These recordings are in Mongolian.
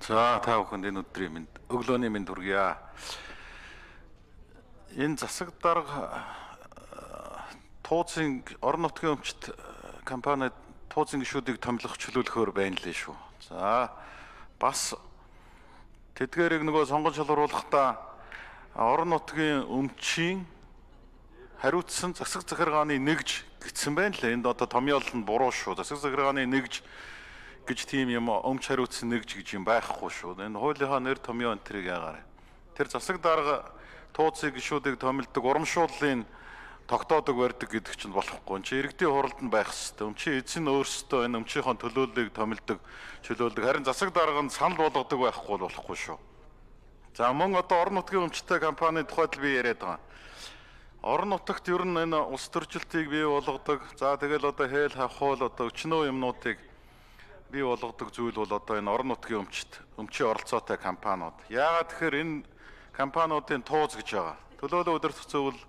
За та бүхэнд энэ өдрийн минь өглөөний минь хүргье. Энэ засаг дарга тууцын орон нутгийн өмчт компани тууцын гишүүдийг томилох чөлөөлөхөөр байна лээ шүү. За бас тэдгээрийг нөгөө сонгон шалгаруулахдаа орон нутгийн өмчийн хариуцсан засаг захиргааны нэгж гэсэн байна лээ. Энд одоо томьёол нь буруу шүү. Засаг захиргааны нэгж гэж тийм юм өмч хариуцсан нэгж гэж юм байхгүй шүү. Энэ хуулийнхаа нэр томьёо энтрийг яагаар. Тэр засаг дарга тууцын гишүүдийг томилдог урамшууллын тогтоодог барьдаг гэдэг чинь болохгүй. Чи иргэдийн хуралд нь байх хэрэгтэй. Өмчийн эзэн өөрсдөө энэ өмчийнхөө төлөөллийг томилдог, чөлөөлдөг. Харин засаг дарга нь санал болгодог байхгүй болохгүй шүү. За мөн одоо орон нутгийн өмчтэй компани тухайд би яриад байгаа. Орон нутагт ер нь энэ улс төржилтийг бий болгодог. За тэгэл одоо хээл хавхуул одоо өчнөө юмнуудыг бий болгодог зүйл бол одоо энэ орон нутгийн өмчийн оролцоотой компаниуд. Яагаад тэгэхээр энэ компаниудын тууз гэж байгаа. Төлөөлөл удирдах зөвлөл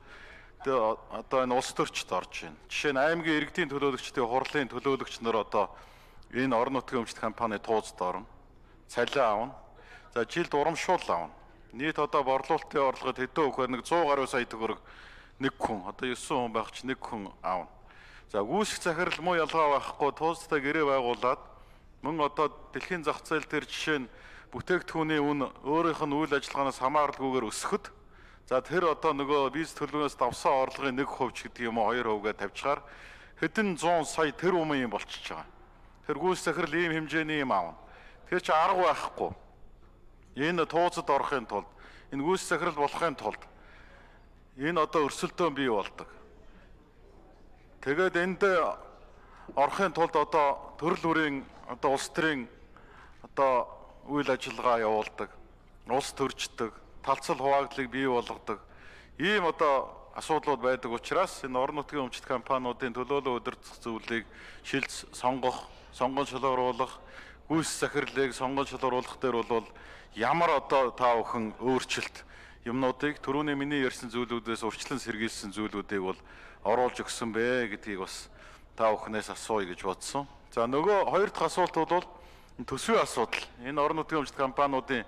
одоо энэ улс төрчид орж байна. Жишээ нь аймгийн иргэдийн төлөөлөгчдийн хурлын төлөөлөгч нар одоо энэ орон нутгийн өмчт компани туузд орно. Цалин авна. За жилд урамшуул авна. Нийт одоо борлуулалтын орлогод хэдэн өгөхөөр нэг 100 гаруй сая төгрөг нэг хүн одоо 9 хүн байх ч нэг хүн авна. За гүйцэх захирал муу ялгаа байхгүй туузтай гэрээ байгуулад мөн одоо дэлхийн зах зээл дээр жишээ нь бүтээгдэхүүний үн өөрийнх нь үйл ажиллагаанаас хамааралгүйгээр өсөхөд за тэр одоо нөгөө бизнес төлөвлөгөөс давсан орлогын 1% ч гэдэг юм уу 2%гээ тавьчихаар хэдэн 100 сая тэр өмнө юм болчихж байгаа. Тэр гүйцэх захирал ийм хэмжээний юм аавна. Тэр чи арга байхгүй. Энэ туузад орохын тулд энэ гүйцэх захирал болохын тулд энэ одоо өрсөлдөөн бий болдог. Тэгээд энд орохын тулд одоо төрөл бүрийн одоо улс төрийн одоо үйл ажиллагаа явуулдаг, улс төрждөг, талцал хуваагдлыг бий болгодог. Ийм одоо асуудлууд байдаг учраас энэ орон нутгийн өмчт компаниудын төлөөлөл удирдах зөвлөлийг шилж сонгох, сонгон шалгаруулах, гүйцэх захирлыг сонгон шалгаруулах дээр бол ямар одоо та бүхэн өөрчлөлт юмнуудыг түрүүний миний ярьсан зүйлүүдээс урьдчилан сэргийлсэн зүйлүүдийг бол оруулж өгсөн бэ гэдгийг бас та бүхнээс асууя гэж бодсон. За нөгөө хоёр дахь асуулт бол төсвийн асуудал. Энэ орон нутгийн өмчт компаниудын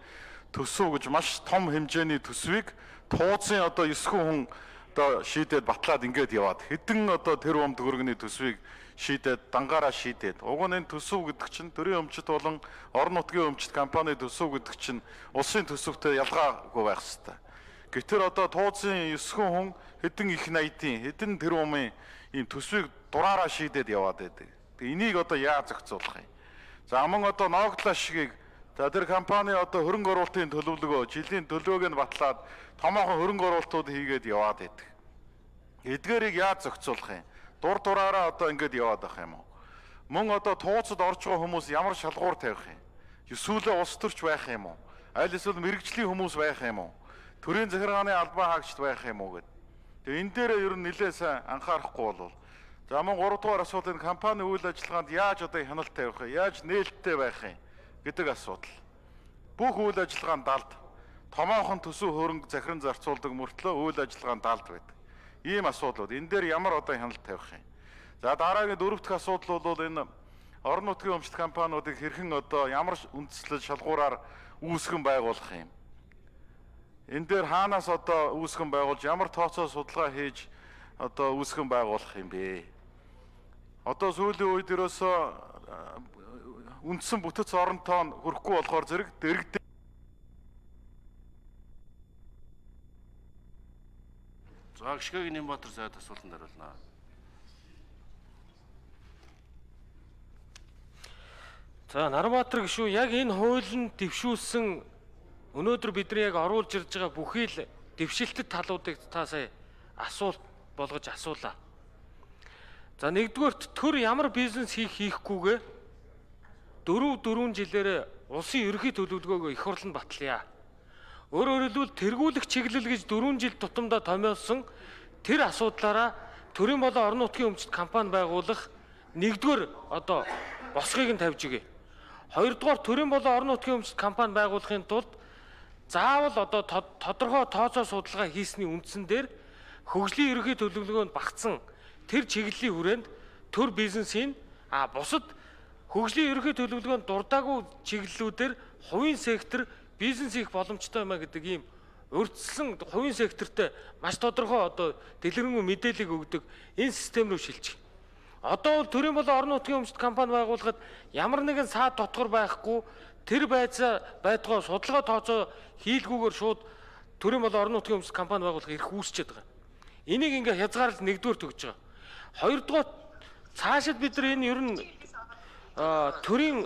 төсөв гэж маш том хэмжээний төсвийг тууцын одоо 9 хүн одоо шийдээд батлаад ингээд яваад хэдэн одоо тэр бом төгрөгийн төсвийг шийдээд дангаараа шийдээд уг нь энэ төсөв гэдэг чинь төрийн өмчт болон орон нутгийн өмчт компани төсөв гэдэг чинь улсын төсөвтэй ялгаагүй байх ёстой. Гэвч одоо тууцын 9 хүн хэдэн их найдын хэдэн тэр бомын ийм төсвийг дураараа шийдээд яваад байдаг. Тэгээ энийг одоо яаж зохицуулах юм? За мөн одоо Ногдлаа шигийг за тэр компани одоо хөрөнгө оруулалтын төлөвлөгөө жилийн төлөвөөг нь батлаад томоохон хөрөнгө оруулалтууд хийгээд яваад байдаг. Эдгээрийг яаж зохицуулах юм? Дур дураараа одоо ингэж яваад байх юм уу? Мөн одоо тууцад орж байгаа хүмүүс ямар шалгуур тавих юм? Эсвэл улс төрч байх юм уу? Аль эсвэл мэрэгжлийн хүмүүс байх юм уу? Төрийн захиргааны албан хаагчд байх юм уу гэд. Тэгээ энэ дээр ер нь нэлээд сайн анхаарахгүй болов. За мөн 3 дугаар асуудал энэ компани үйл ажиллагаанд яаж одоо хяналт тавих вэ? Яаж нээлттэй байх юм гэдэг асуудал. Бүх үйл ажиллагаанд далд томоохон төсөв хөрөнгө захиран зарцуулдаг мөртлөө үйл ажиллагаанд далд байдаг. Ийм асуудлууд. Энэ дээр ямар одоо хяналт тавих юм? За дараагийн 4 дахь асуудал бол энэ орон нутгийн өмчт компаниудыг хэрхэн одоо ямар үндэслэл шалгуураар үүсгэн байгуулах юм? Энэ дээр хаанаас одоо үүсгэн байгуулж ямар тооцоо судалгаа хийж одоо үүсгэн байгуулах юм бэ? Одоо сүүлийн үед ерөөсөө үндсэн бүтэц оронтоо хүрэхгүй болохоор зэрэг дэрэгдээ. За гიშгэг Нямбатар сайд асуултанд хариулнаа. За Нарбаатар гишүү яг энэ хуулийн дэвшүүлсэн өнөөдөр бидний яг оруулж ирж байгаа бүхий л дэвшилтэд талуудыг та сая асуулт болгож асуулаа. За нэгдүгээрт төр ямар бизнес хийхгүйгээ 4 жилээр улсын ерөнхий төлөвлөгөөгөө их хурланд батлая. Өөрөөр хэлбэл тэргүүлэх чиглэл гэж 4 жил тутамдаа томьёолсон тэр асуудлаараа төрийн болон орон нутгийн өмчт компани байгуулах нэгдүгээр одоо босгыг нь тавьж өгье. Хоёрдугаар төрийн болон орон нутгийн өмчт компани байгуулахын тулд заавал одоо тодорхой тооцоо судалгаа хийсний үндсэн дээр хөгжлийн ерөнхий төлөвлөгөөнд багтсан тэр чиглэлийн хүрээнд төр бизнесийн бусад хөгжлийн ерөнхий төлөвлөгөөнд дурдаагүй чиглэлүүдээр хувийн сектор бизнес хийх боломжтой юмаа гэдэг ийм урьдчилан хувийн секторт маш тодорхой одоо дэлгэрэнгүй мэдээлэл өгдөг энэ систем рүү шилжих. Одоо бол төрийн болон орон нутгийн өмчт компани байгуулахад ямар нэгэн саад дотгор байхгүй тэр байдгаа судалгаа тооцоо хийлгүүгээр шууд төрийн болон орон нутгийн өмчт компани байгуулах эрх үүсчихэд байгаа. Энийг ингээ хязгаарлалт нэгдүгээр төгж байгаа. Хоёрдугаар цаашид бид нар энэ ер нь төрийн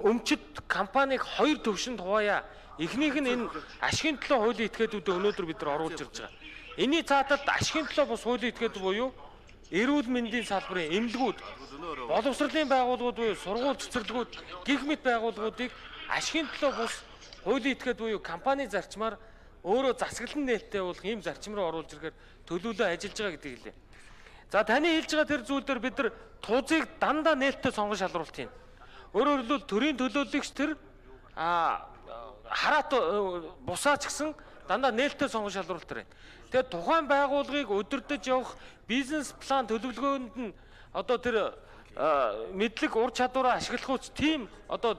өмчт компаниг хоёр төвшөнд хуваая. Эхнийх нь энэ ашигын төлөө хуулийн этгээдүүдэд өнөөдөр бид нар оруулж ирж байгаа. Энийн цааталд ашигын төлөө бус хуулийн этгээд буюу эрүүл мэндийн салбарын эмнэлгүүд, боловсролын байгууллагууд буюу сургууль цэцэрлэгүүд, гэх мэт байгууллагуудыг ашигын төлөө бус хуулийн этгээд буюу компани зарчмаар өөрөө засаглан нээлттэй болох ийм зарчим руу оруулж ирэхээр төлөвлөө ажиллаж байгаа гэдгийг хэлээ. За таны хэлж байгаа тэр зүйл дээр бид нар тузыг дандаа нээлттэй сонгон шалруулт юм. Өөрөөр хэлбэл төрийн төлөөлөгч тэр хараат бусаач гэсэн дандаа нээлттэй сонгон шалруулалт байна. Тэгээд тухайн байгууллагыг удирдах явах бизнес план төлөвлөгөөнд нь одоо тэр мэдлэг ур чадвараа ашиглах үс тийм одоо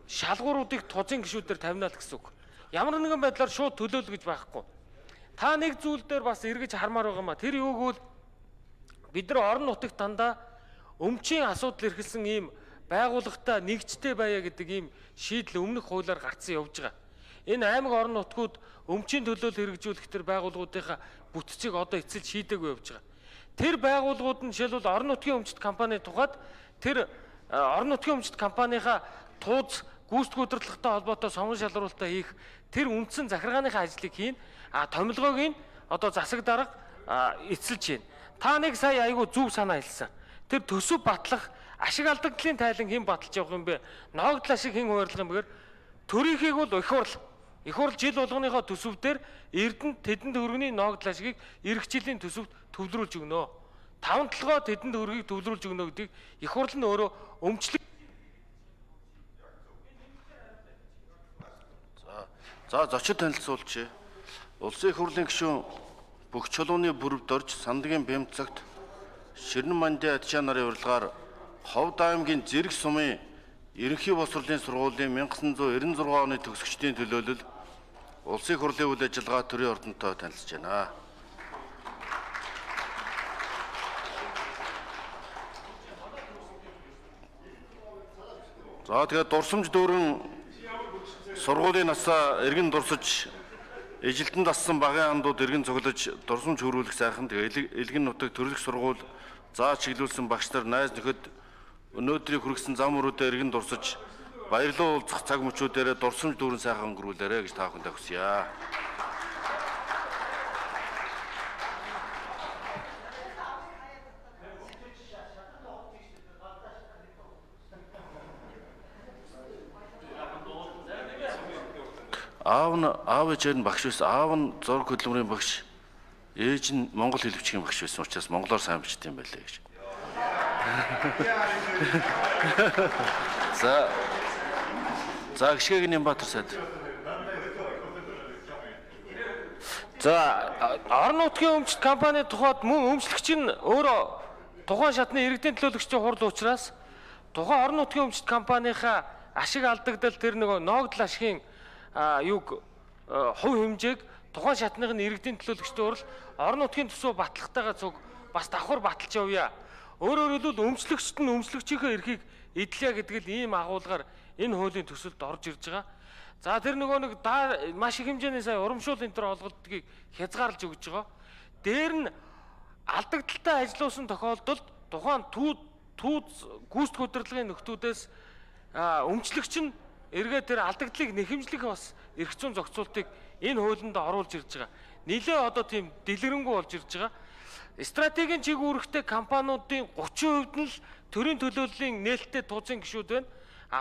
шалгууруудыг тузын гишүүдээр тавина л гэсэн үг. Ямар нэгэн байдлаар шууд төлөөлөл гэж байхгүй. Та нэг зүйл дээр бас эргэж хармаар байгаа маа. Тэр юу гэвэл бид нар орон нутагт дандаа өмчийн асуудал эрхэлсэн ийм байгууллагатай нэгжтэй байя гэдэг ийм шийдэл өмнөх хуулиар гарцсан явж байгаа. Энэ аймаг орон нутгууд өмчийн төлөөлөл хэрэгжүүлэх төр байгууллагуудынхаа бүтцийг одоо эцэлж шийдээгүй явж байгаа. Тэр байгууллагууд нь жишээлбэл орон нутгийн өмчт компани тухайд тэр орон нутгийн өмчт компанийхаа тууз гүйцэтгэх удирдлагатай холбоотой сонгон шалруулалтаа хийх тэр үндсэн захиргааныхаа ажлыг хийн. Томилгоог нь одоо засаг дарга эцэлж байна. Та нэг сая айгүй зөв санаа хэлсэн. Тэр төсөв батлах ашиг алдагдлын тайлан хэн баталж явах юм бэ? Ноогдол ашиг хэн хуваарлах юм бэгээр төрийнхийг бол их хурл жил болгоныхоо төсөвдөр Эрдэнэт тэдэнд хөргөний ноогдол ашигыг эх жилийн төсөвт төвлөрүүлж өгнө. 5-7 тэдэнд хөргийг төвлөрүүлж өгнө гэдгийг их хурл нь өөрөө өмчлөг. За зочид танилцуулж улсын их хурлын гишүүн бүх чулууны бүрвд орж Сандгийн Бямцагт Ширнэн Мандын Адчаа нарын урилгаар Ховд аймгийн Зэрэг сумын Ерөнхий боловсролын сургуулийн 1996 оны төгсөгчдийн төлөөлөл улсын их хурлын үйл ажиллагаа төрийн ордонтой танилцж байна. За тэгээд дурсамж дүүрэн сургуулийн насаа эргэн дурсаж эжилтэнд ассан багын андууд эргэн цуглаж дурсамж хөрвүүлэх сайхан тэгээд элгэн нутаг төрөлх сургууль заа чиглүүлсэн багш нар найз нөхөд өнөөдрийг хүргэсэн зам өрөөдөө эргэн дурсаж баярлал уулзах цаг мөчүүдээр дурсамж дүүрэн сайхан өнгөрүүлээрэ гэж та бүхэндээ хүсье. Аав ээж нь багш байсан. Аав нь зураг хөдөлмөрийн багш. Ээж нь монгол хэл бичгийн багш байсан учраас монголоор сайн бичдэг юм байлээ гэж. За гişгэг Нямбатар сайд. За орон нутгийн өмчт компани тухайд мөн өмчлөгч нь өөрөө тухайн шатны иргэдийн төлөөлөгчийн хурал учраас тухайн орон нутгийн өмчт компанийхаа ашиг алдагдал тэр нөгөө ноогдол ашигын юг хувь хэмжээг тухайн шатных нь иргэдийн төлөөлөгчдийн хурал орон нутгийн төсөв батлахтайгаа цуг бас давхар баталж явъя. Өөрөөр хэлбэл өмчлөгчт нь өмчлөгчийнхээ эрхийг эдлэе гэдэг л ийм агуулгаар энэ хуулийн төсөлд орж ирж байгаа. За тэр нөгөө нэг маш их хэмжээний сая урамшуул энэ төр олголтгийг хязгаарлаж өгж байгаа. Дээр нь алдагдaltaй ажилласан тохиолдолд тухайн түүз гүйцэтгэх удирдлагын нөхдүүдээс өмчлөгч нь эргээд тэр алдагдлыг нэхэмжлэх бас эрх зүйн зохицуултыг энэ хуулинд оруулж ирж байгаа. Нилээ одоо тийм дэлгэрэнгүй болж ирж байгаа. Стратегийн чиг үүрэгтэй компаниудын 30% нь л төрийн төлөөллийн нээлттэй тузын гишүүд байна.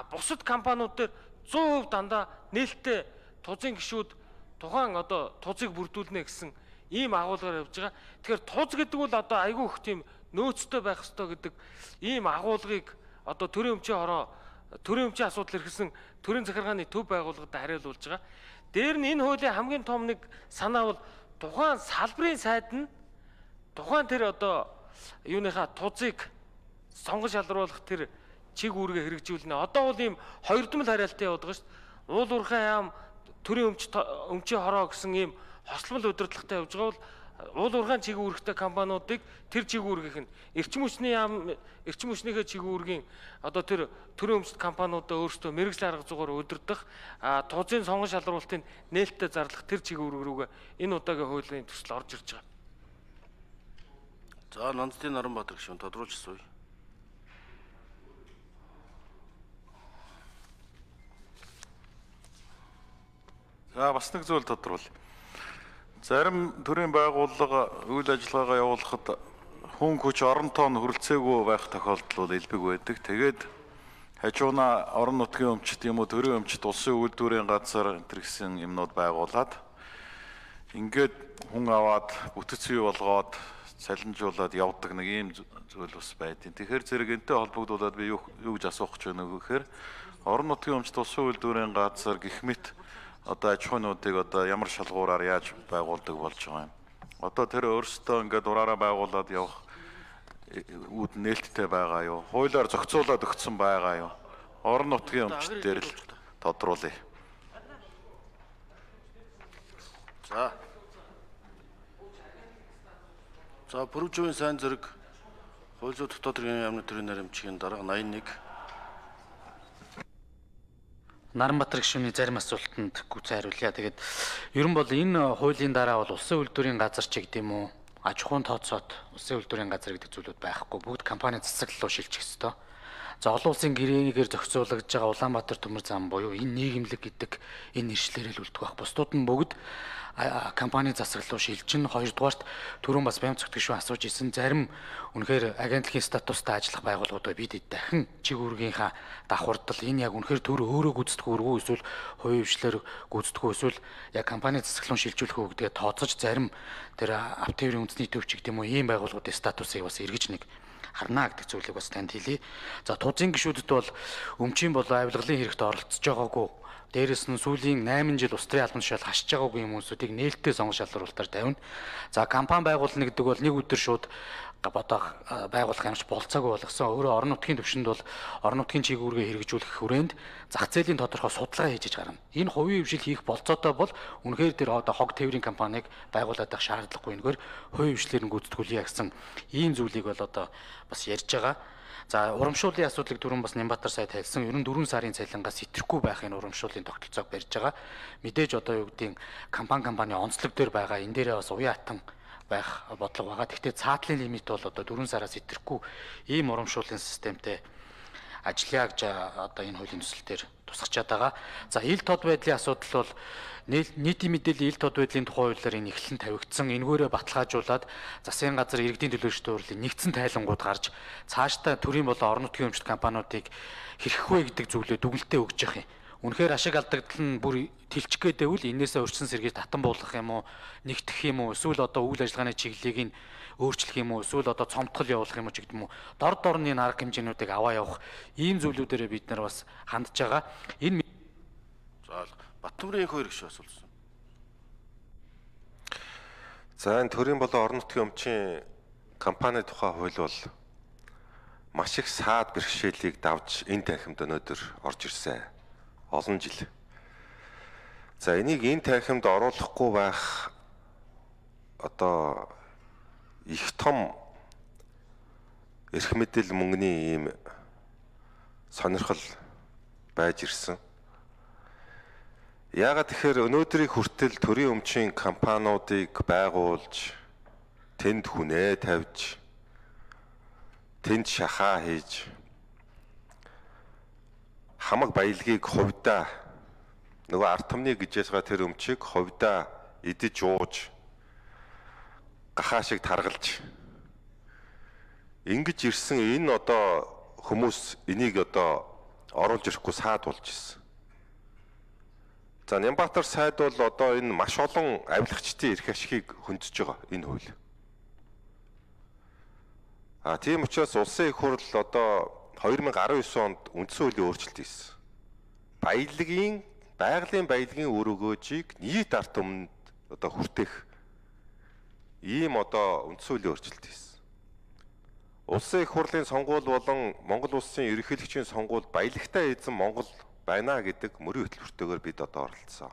Бусад компаниуд дээр 100% дандаа нээлттэй тузын гишүүд тухайн одоо тузыг бүрдүүлнэ гэсэн ийм агуулгаар явж байгаа. Тэгэхээр туз гэдэг бол одоо айгүй их тийм нөөцтэй байх ёстой гэдэг ийм агуулгыг одоо төрийн өмчийн асуудал эрхэлсэн төрийн захиргааны төв байгууллагад хариулуулж байгаа. Дээр нь энэ хуулийн хамгийн том нэг санаа бол тухайн салбарын сайд нь тухайн тэр одоо юуныхаа тузыг сонгон шалруулах тэр чиг үүргээ хэрэгжүүлнэ. Одоо бол ийм хоёрдмол хариалтын яваад байгаа шүү дээ. Уул уурхай яам төрийн өмчийн хороо гэсэн ийм хослол удирдлагатай явж байгаа бол уул уурхайн чиг үүрэгтэй компаниудыг тэр чиг үүргийнх нь эрчим хүчнийхээ чиг үүргийн одоо тэр төрийн өмчт компаниудаа өөрсдөө мэргэжлийн арга зүйгээр удирдах тузын сонгон шалруулалтын нээлттэй зарлах тэр чиг үүрэг рүүгээ энэ удаагийн хуулийн төсөл орж ирж байгаа. За Нандтын Наранбаатар гишүүн тодруулж асууя. За бас нэг зүйл тодруулъя. Зарим төрийн байгууллага үйл ажиллагаагаа явуулахад хүн хүч оронтоо нь хүрэлцээгүй байх тохиолдол бол элбэг байдаг. Тэгээд хажуунаа орон нутгийн өмчт юм уу төрийн өмчт улсын үйлдвэрийн газар энэ гэсэн юмнууд байгуулад ингээд хүн аваад бүтэц бий болгоод цалинжуулаад явдаг нэг ийм зүйл бас байдیں۔ Тэгэхээр зэрэг энтэй холбогдуулаад би юу гэж асуух гэж байна вэ гэхээр орон нутгийн өмчт улсын үйлдвэрийн газар гэх мэт одоо аж ахуйнуудыг одоо ямар шалгуураар яаж байгуулдаг болж байгаа юм. Одоо тэр өөрсдөө ингээд ураараа байгуулад явах үүд нээлттэй байгаа юу? Хуулиар зохицуулаад өгсөн байгаа юу? Орон нутгийн өмчт дээр л тодруулъя. За Бүрвжүүн сайн зэрэг хууль зүйн дотоод хэргийн яамны төрийн наримчгийн дарга 81. Наранбаатар гишүүний зарим асуултанд гүцэн хариулъя. Тэгээд ер нь бол энэ хуулийн дараа бол улсын үйлдвэрийн газар ч гэдэг юм уу, аж ахуйн тооцоод улсын үйлдвэрийн газар гэдэг зүйлүүд байхгүй. Бүгд компани засаг руу шилжих ёстой. За олон улсын гэрээгээр зохицуулагдж байгаа Улаанбаатар төмөр зам буюу энэ нийгэмлэг гэдэг энэ нэршлэрээр л үлдэх байх. Бусдууд нь бүгд компани засаг руу шилжин. Хоёрдугаарт түрүүн бас Бямцогт гишүүн асууж исэн зарим үнэхээр агентлагийн статустай ажиллах байгууллагуудаа бид дахин чиг үүргийнхаа давхардал энэ яг үнэхээр төр өөрөө гүйцэтгэх үргүү эсвэл хувийн хвшлэр гүйцэтгэх эсвэл яг компани засаг руу шилжүүлэх үү гэдгээ тооцож зарим тэр автоврын үндэсний төвч гэдэг юм уу ийм байгууллагуудын статусыг бас эргэж нэг харна гэдэг зүйлийг бас танд хэлье. За тузын гишүүдэд бол өмчийн болон авилгалын хэрэгт оролцож байгаагүй. Дээрээс нь сүүлийн 8 жил ус төрийн албан тушаал хашиж байгаагүй хүмүүсүүдийг нээлттэй сонгон шалруулалтаар тавина. За компани байгуулна гэдэг бол нэг өдөр шууд бодоо байгуулах юмш болцоогүй болгосон. Өөрөө орон нутгийн төвшөнд бол орон нутгийн чиг үүргээ хэрэгжүүлэх хүрээнд зах зээлийн тодорхой судалгаа хийж гарна. Энэ хувийн хвшил хийх болцоотой бол үнэхээр тэр одоо хог тээврийн компанийг байгуулад байх шаардлагагүй. Нэгээр хувийн хвшлэр нь гүйцэтгүүлье гэсэн ийм зүйлийг бол одоо бас ярьж байгаа. За урамшууллын асуудлыг түрүүн бас Нямбатар сайд хэлсэн. Ер нь 4 сарын цалингаас итэхгүй байхын урамшууллын тогтолцоог барьж байгаа. Мэдээж одоо юу гэдгийг компани онцлог дээр байгаа. Энэ дээрээ бас уян хатан байх бодлого байгаа. Гэхдээ цаатлын лимит бол одоо 4 сараас итэхгүй ийм урамшууллын системтэй ажиллая гэж одоо энэ хуулийн төсөл дээр тусгачаад байгаа. За ил тод байдлын асуудал бол нийтийн мэдээллийн ил тод байдлын тухай хуулиар энэ эхлэн тавигдсан. Энэгээрээ баталгаажуулаад засгийн газар иргэдийн төлөөлөлтөөр хурлын нэгдсэн тайлангууд гарч цаашдаа төрийн болон орон нутгийн өмчт компаниудыг хэрхэх вэ гэдэг зүйлээ дүгнэлтээ өгч явах юм. Үнэхээр ашиг алдагдал нь бүр тэлчих гээдэвэл энээсээ урьдчилан сэргийж татан буулгах юм уу, нэгтгэх юм уу, эсвэл одоо үйл ажиллагааны чиглэлийг нь өөрчлөх юм уу, эсвэл одоо цомтгол явуулах юм уу ч гэдэг юм уу. Дор дорны арга хэмжээнүүдийг аваа явах ийм зүйлүүдээрээ бид нар бас хандж байгаа. Энэ За Баттамрын хоёр гишүүн асуулсан. За энэ төрийн болон орон нутгийн өмчийн компани тухай хууль бол маш их саад бэрхшээлийг давж энэ танхимд өнөөдөр орж ирсэн. Олон жил. За энийг энэ танхимд оруулахгүй байх одоо их том эрх мэдэл мөнгөний ийм сонирхол байж ирсэн. Яагаад тэгэхээр өнөөдрийн хүртэл төрийн өмчийн компаниудыг байгуулж тэнд хүнээ тавьж тэнд шахаа хийж хамаг баялагийг хувьдаа нөгөө ард түмний гэж байгаа тэр өмчийг хувьдаа идэж ууж гахаа шиг таргалж ингэж ирсэн энэ одоо хүмүүс энийг одоо оруулж ирэхгүй саад болж ирсэн. За Нямбатар сайд бол одоо энэ маш олон авилагчдын эрх ашигыг хөндөж байгаа энэ хууль. Тийм учраас улсын их хурл одоо 2019 онд үндсэн хуулийн өөрчлөлт хийсэн. Байгалийн баялагын үр өгөөжийг нийт ард түмэнд одоо хүртэх ийм одоо үндсэн хуулийн өөрчлөлт хийсэн. Улсын их хурлын сонгуул болон Монгол улсын ерөнхийлөгчийн сонгуул баялагтай эзэн Монгол байна гэдэг мөрийн хөтөлбөртэйгээр бид одоо оролцсон.